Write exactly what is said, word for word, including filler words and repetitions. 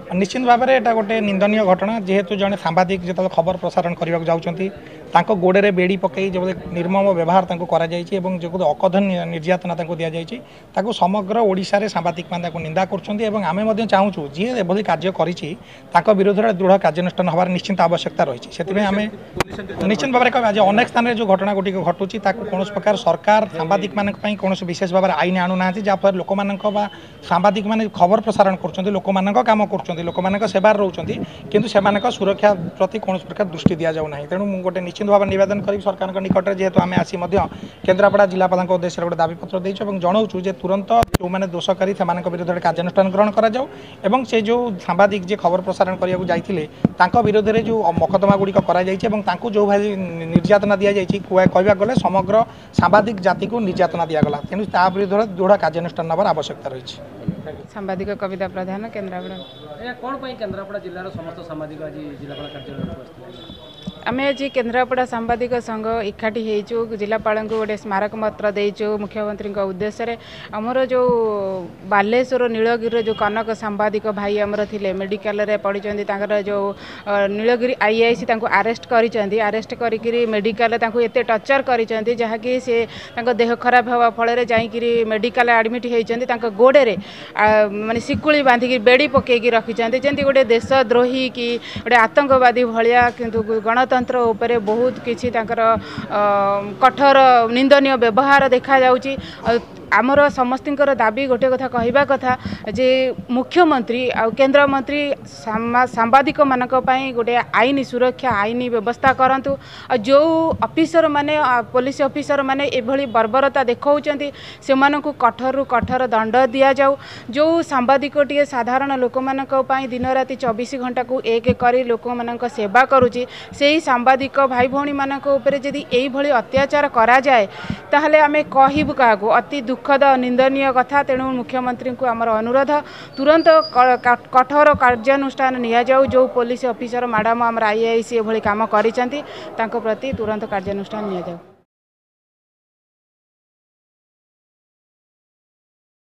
ନିଶ୍ଚିତ ଭାବରେ ଏଇଟା ଗୋଟେ ନିନ୍ଦନୀୟ ଘଟଣା। ଯେହେତୁ ଜଣେ ସାମ୍ବାଦିକ ଯେତେବେଳେ ଖବର ପ୍ରସାରଣ କରିବାକୁ ଯାଉଛନ୍ତି, ତାଙ୍କ ଗୋଡ଼ରେ ବେଡ଼ି ପକାଇ ଯେଭଳି ନିର୍ମମ ବ୍ୟବହାର ତାଙ୍କୁ କରାଯାଇଛି ଏବଂ ଯେଉଁ ଅକଥନୀୟ ନିର୍ଯାତନା ତାଙ୍କୁ ଦିଆଯାଇଛି, ତାକୁ ସମଗ୍ର ଓଡ଼ିଶାରେ ସାମ୍ବାଦିକମାନେ ତାକୁ ନିନ୍ଦା କରୁଛନ୍ତି। ଏବଂ ଆମେ ମଧ୍ୟ ଚାହୁଁଛୁ, ଯିଏ ଏଭଳି କାର୍ଯ୍ୟ କରିଛି ତାଙ୍କ ବିରୁଦ୍ଧରେ ଦୃଢ଼ କାର୍ଯ୍ୟାନୁଷ୍ଠାନ ହେବାର ନିଶ୍ଚିନ୍ତ ଆବଶ୍ୟକତା ରହିଛି। ସେଥିପାଇଁ ଆମେ ନିଶ୍ଚିତ ଭାବରେ କହିବା ଯେ ଅନେକ ସ୍ଥାନରେ ଯେଉଁ ଘଟଣା ଗୁଡ଼ିକ ଘଟୁଛି, ତାକୁ କୌଣସି ପ୍ରକାର ସରକାର ସାମ୍ବାଦିକମାନଙ୍କ ପାଇଁ କୌଣସି ବିଶେଷ ଭାବରେ ଆଇନ ଆଣୁନାହାନ୍ତି, ଯାହାଫଳରେ ଲୋକମାନଙ୍କ ବା ସାମ୍ବାଦିକମାନେ ଖବର ପ୍ରସାରଣ କରୁଛନ୍ତି, ଲୋକମାନଙ୍କ କାମ କରୁଛନ୍ତି, ଲୋକମାନଙ୍କ ସେବାରେ ରହୁଛନ୍ତି, କିନ୍ତୁ ସେମାନଙ୍କ ସୁରକ୍ଷା ପ୍ରତି କୌଣସି ପ୍ରକାର ଦୃଷ୍ଟି ଦିଆଯାଉ ନାହିଁ। ତେଣୁ ମୁଁ ଗୋଟେ ନିଶ୍ଚିତ ଭାବରେ ନିବେଦନ କରିବି ସରକାରଙ୍କ ନିକଟରେ, ଯେହେତୁ ଆମେ ଆସି ମଧ୍ୟ କେନ୍ଦ୍ରାପଡ଼ା ଜିଲ୍ଲାପାଳଙ୍କ ଉଦ୍ଦେଶ୍ୟରେ ଗୋଟେ ଦାବିପତ୍ର ଦେଇଛୁ ଏବଂ ଜଣାଉଛୁ ଯେ ତୁରନ୍ତ ଯେଉଁମାନେ ଦୋଷକାରୀ ସେମାନଙ୍କ ବିରୁଦ୍ଧରେ କାର୍ଯ୍ୟାନୁଷ୍ଠାନ ଗ୍ରହଣ କରାଯାଉ ଏବଂ ସେ ଯେଉଁ ସାମ୍ବାଦିକ ଯିଏ ଖବର ପ୍ରସାରଣ କରିବାକୁ ଯାଇଥିଲେ, ତାଙ୍କ ବିରୁଦ୍ଧରେ ଯେଉଁ ମକଦ୍ଦମା ଗୁଡ଼ିକ କରାଯାଇଛି ଏବଂ ତାଙ୍କୁ ଯେଉଁଭଳି ନିର୍ଯାତନା ଦିଆଯାଇଛି, କହିବାକୁ ଗଲେ ସମଗ୍ର ସାମ୍ବାଦିକ ଜାତିକୁ ନିର୍ଯାତନା ଦିଆଗଲା। ତେଣୁ ତା ବିରୁଦ୍ଧରେ ଦୃଢ଼ କାର୍ଯ୍ୟାନୁଷ୍ଠାନ ନେବାର ଆବଶ୍ୟକତା ରହିଛି। ସାମ୍ବାଦିକ କବିତା ପ୍ରଧାନ, କେନ୍ଦ୍ରାପଡ଼ା। ଆଜ୍ଞା, କ'ଣ ପାଇଁ କେନ୍ଦ୍ରାପଡ଼ା ଜିଲ୍ଲାର ସମସ୍ତ ସାମ୍ବାଦିକ ଆଜି ଜିଲ୍ଲାପାଳ କାର୍ଯ୍ୟାଳୟକୁ ଆସିଥିଲେ? ଆମେ ଆଜି କେନ୍ଦ୍ରାପଡ଼ା ସାମ୍ବାଦିକ ସଂଘ ଏକାଠି ହେଇଛୁ, ଜିଲ୍ଲାପାଳଙ୍କୁ ଗୋଟେ ସ୍ମାରକପତ୍ର ଦେଇଛୁ ମୁଖ୍ୟମନ୍ତ୍ରୀଙ୍କ ଉଦ୍ଦେଶ୍ୟରେ। ଆମର ଯେଉଁ ବାଲେଶ୍ୱର ନୀଳଗିରିର ଯେଉଁ କନକ ସାମ୍ବାଦିକ ଭାଇ ଆମର ଥିଲେ, ମେଡ଼ିକାଲରେ ପଡ଼ିଛନ୍ତି। ତାଙ୍କର ଯେଉଁ ନୀଳଗିରି I I C ତାଙ୍କୁ ଆରେଷ୍ଟ କରିଛନ୍ତି। ଆରେଷ୍ଟ କରିକିରି ମେଡ଼ିକାଲରେ ତାଙ୍କୁ ଏତେ ଟର୍ଚର କରିଛନ୍ତି, ଯାହାକି ସେ ତାଙ୍କ ଦେହ ଖରାପ ହେବା ଫଳରେ ଯାଇକିରି ମେଡ଼ିକାଲ ଆଡ଼ମିଟ୍ ହେଇଛନ୍ତି। ତାଙ୍କ ଗୋଡ଼ରେ ମାନେ ଶିକୁଳି ବାନ୍ଧିକି ବେଡ଼ି ପକାଇକି ରଖିଛନ୍ତି, ଯେମିତି ଗୋଟେ ଦେଶଦ୍ରୋହୀ କି ଗୋଟେ ଆତଙ୍କବାଦୀ ଭଳିଆ। କିନ୍ତୁ ଗଣତନ୍ତ୍ର ଉପରେ ବହୁତ କିଛି ତାଙ୍କର କଠୋର ନିନ୍ଦନୀୟ ବ୍ୟବହାର ଦେଖାଯାଉଛି। ଆମର ସମସ୍ତଙ୍କର ଦାବି ଗୋଟେ କଥା କହିବା କଥା ଯେ ମୁଖ୍ୟମନ୍ତ୍ରୀ ଆଉ କେନ୍ଦ୍ରମନ୍ତ୍ରୀ ସାମ୍ବାଦିକମାନଙ୍କ ପାଇଁ ଗୋଟେ ଆଇନ ସୁରକ୍ଷା, ଆଇନ ବ୍ୟବସ୍ଥା କରନ୍ତୁ। ଆଉ ଯେଉଁ ଅଫିସର ମାନେ, ପୋଲିସ ଅଫିସର ମାନେ ଏଭଳି ବର୍ବରତା ଦେଖାଉଛନ୍ତି, ସେମାନଙ୍କୁ କଠୋରରୁ କଠୋର ଦଣ୍ଡ ଦିଆଯାଉ। ଯେଉଁ ସାମ୍ବାଦିକଟିଏ ସାଧାରଣ ଲୋକମାନଙ୍କ ପାଇଁ ଦିନ ରାତି ଚବିଶ ଘଣ୍ଟାକୁ ଏକ କରି ଲୋକମାନଙ୍କ ସେବା କରୁଛି, ସେଇ ସାମ୍ବାଦିକ ଭାଇ ଭଉଣୀମାନଙ୍କ ଉପରେ ଯଦି ଏଇଭଳି ଅତ୍ୟାଚାର କରାଯାଏ, ତାହେଲେ ଆମେ କହିବୁ କାହାକୁ? ଅତି ଦୁଃଖଦ, ନିନ୍ଦନୀୟ କଥା। ତେଣୁ ମୁଖ୍ୟମନ୍ତ୍ରୀଙ୍କୁ ଆମର ଅନୁରୋଧ, ତୁରନ୍ତ କଠୋର କାର୍ଯ୍ୟାନୁଷ୍ଠାନ ନିଆଯାଉ। ଯେଉଁ ପୋଲିସ ଅଫିସର ମ୍ୟାଡ଼ାମ, ଆମର I I C ଏଭଳି କାମ କରିଛନ୍ତି, ତାଙ୍କ ପ୍ରତି ତୁରନ୍ତ କାର୍ଯ୍ୟାନୁଷ୍ଠାନ ନିଆଯାଉ।